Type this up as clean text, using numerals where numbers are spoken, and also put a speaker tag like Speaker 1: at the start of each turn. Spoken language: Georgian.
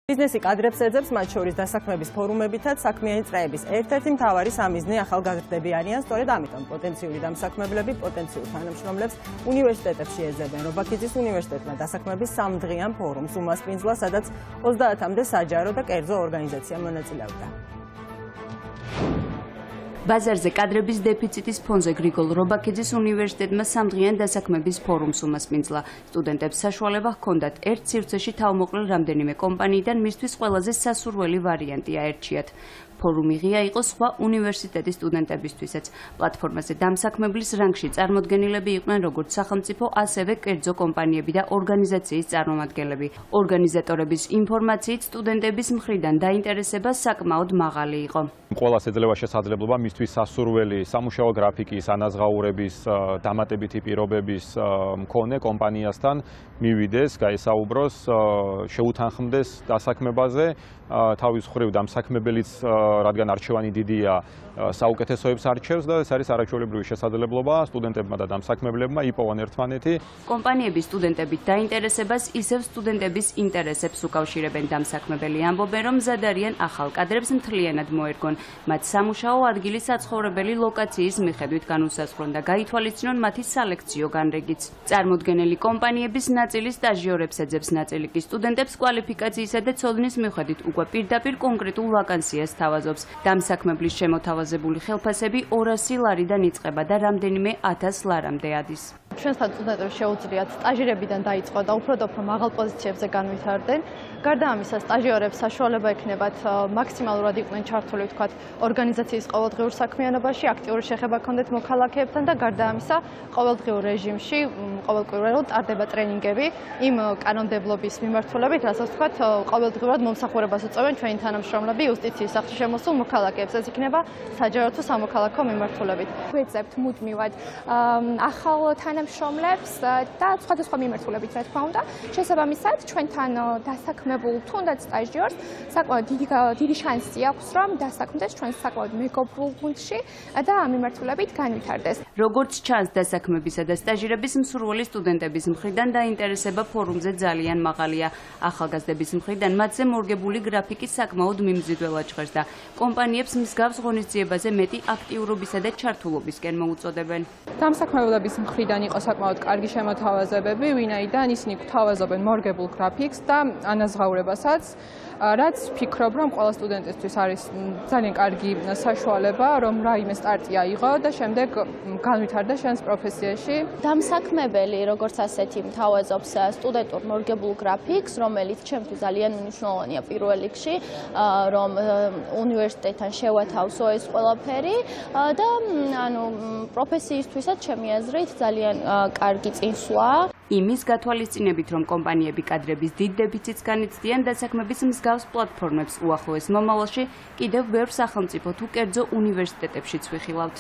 Speaker 1: ბიზნესი კადრებს ეძებს მათ შორის დასაქმების ფორუმებითაც საქმიანი წრეების ერთ-ერთი მთავარი სამიზნე ახალგაზრდები არიან, სწორედ ამიტომ პოტენციური დამსაქმებლები პოტენციურ თანამშრომლებს უნივერსიტეტებში ეძებენ. რობაქიძის უნივერსიტეტმა დასაქმების სამდღიან ფორუმს უმასპინძლა, სადაც 30-მდე საჯარო და კერძო ორგანიზაცია მონაწილეობდა.
Speaker 2: ბაზარზე კადრების დეფიციტის ფონზე გრიგოლ რობაქიძის უნივერსიტეტმა სამდღიან დასაქმების ფორუმს უმასპინძლა. სტუდენტებს საშუალება ჰქონდათ ერთ სივრცეში თავმოყრილ რამდენიმე კომპანიიდან მისთვის ყველაზე სასურველი ვარიანტი აერჩიათ. ფორუმი ღია იყო სხვა უნივერსიტეტის სტუდენტებისთვისაც. პლატფორმაზე დამსაქმებლის რანგში წარმოდგენილები იყვნენ როგორც სახელმწიფო, ასევე კერძო კომპანიები და ორგანიზაციის წარმომადგენლები. ორგანიზატორების ინფორმაციით სტუდენტების მხრიდან დაინტერესება საკმაოდ მაღალი იყო.
Speaker 3: ყველას ეძლევა შესაძლებლობა მისთვის სასურველი სამუშაო გრაფიკის, ანაზღაურების, დამატებითი პირობების მქონე კომპანიასთან მივიდეს, გაესაუბროს, შეუთანხმდეს დასაქმებაზე. თავის მხრივ დამსაქმებელიც, რადგან არჩევანი დიდია, საუკეთესოებს არჩევს და ეს არის არაჩვეულებრივი შესაძლებლობა სტუდენტებმა და დამსაქმებლებმა იპოვონ ერთმანეთი.
Speaker 2: კომპანიების სტუდენტებით დაინტერესებას ისევ სტუდენტების ინტერესებს უკავშირებენ. დამსაქმებელი ამბობენ, რომ მზად არიან ახალ კადრებს მთლიანად მოერგონ. მათ სამუშაო ადგილი საცხოვრებელი ლოკაციის მიხედვით განუსაზღვრონ და გაითვალისწინონ მათი სალექციო განრიგიც. წარმოდგენილი კომპანიების ნაწილი სტაჟიორებს ეძებს, ნაწილი კი სტუდენტებს კვალიფიკაციისა და ცოდნის მიხედვით უკვე პირდაპირ კონკრეტულ ვაკანსიას თავაზობს. დამსაქმებლის შემოთავაზებული ხელფასები 200 ლარიდან იწყება და რამდენიმე 1000 ლარამდე ადის.
Speaker 4: ჩვენთან სტუდენტებს შეუძლიათ სტაჟირებიდან დაიწყო და უფრო და უფრო მაღალ პოზიციებზე განვითარდნენ. გარდა ამისა, სტაჟიორებს საშუალება ექნებათ მაქსიმალურად იყვნენ ჩართული ვთქვათ ორგანიზაციის ყოველდღიურ საქმიანობაში, აქტიური შეხება ჰქონდეთ მოქალაქეებთან და გარდა ამისა, ყოველდღიურ რეჟიმში ყოველკვირვეულად ტარდება ტრენინგები იმ კანონმდებლობის მიმართულებით, რასაც ვთქვათ ყოველდღიურად მომსახურებას უწევენ ჩვენი თანამშრომლები იუსტიციის სახლში შემოსულ მოქალაქეებს. ეს იქნება საჯარო თუ სამოქალაქო მიმართულებით.
Speaker 5: ვეძებთ მუდმივად ახალ თანამშრომლებს და სხვადასხვა მიმართულებით, რა თქმა უნდა. შესაბამისად, ჩვენთან დასაქმებულ თუნდაც სტაჟიორს საკმაოდ დიდი შანსი აქვს, რომ დასაქმდეს ჩვენს საკმაოდ მეგობრულ გუნდში და ამ მიმართულებით განვითარდეს.
Speaker 2: როგორც ჩანს, დასაქმებისა და სტაჟირების მსურველი სტუდენტების მხრიდან დაინტერესება ფორუმზე ძალიან მაღალია. ახალგაზრდების მხრიდან მათზე მორგებული გრაფიკი საკმაოდ მიმზიდველად ჟღერს და კომპანიებს მსგავს ღონისძიებაზე მეტი აქტიურობისა და ჩართულობისკენ მოუწოდებენ.
Speaker 6: დამსაქმებლების მხრიდან იყო საკმაოდ კარგი შემოთავაზებები, ვინაიდან ისინი გვთავაზობენ მორგებულ გრაფიკს და ანაზღაურებასაც, რაც ვფიქრობ, რომ ყველა სტუდენტისთვის არის ძალიან კარგი საშუალება, რომ რაიმე სტარტი აიღო და შემდეგ განვითარდა შენს პროფესიაში.
Speaker 7: დამსაქმებელი, როგორც ასეთი, მთავაზობს სტუდენტურ მორგებულ გრაფიკს, რომელიც ჩემთვის ძალიან მნიშვნელოვანია პირველ რიგში, რომ უნივერსიტეტთან შევათავსო ეს ყველაფერი და ანუ პროფესიისთვისაც ჩემი აზრით ძალიან კარგი წინსვლაა.
Speaker 2: იმის გათვალისწინებით, რომ კომპანიები კადრების დიდ დეფიციტს განიცდიან, დასაქმების მსგავს პლატფორმებს უახლოეს მომავალში კიდევ ბევრ სახელმწიფო თუ კერძო უნივერსიტეტებშიც ვიხილავთ.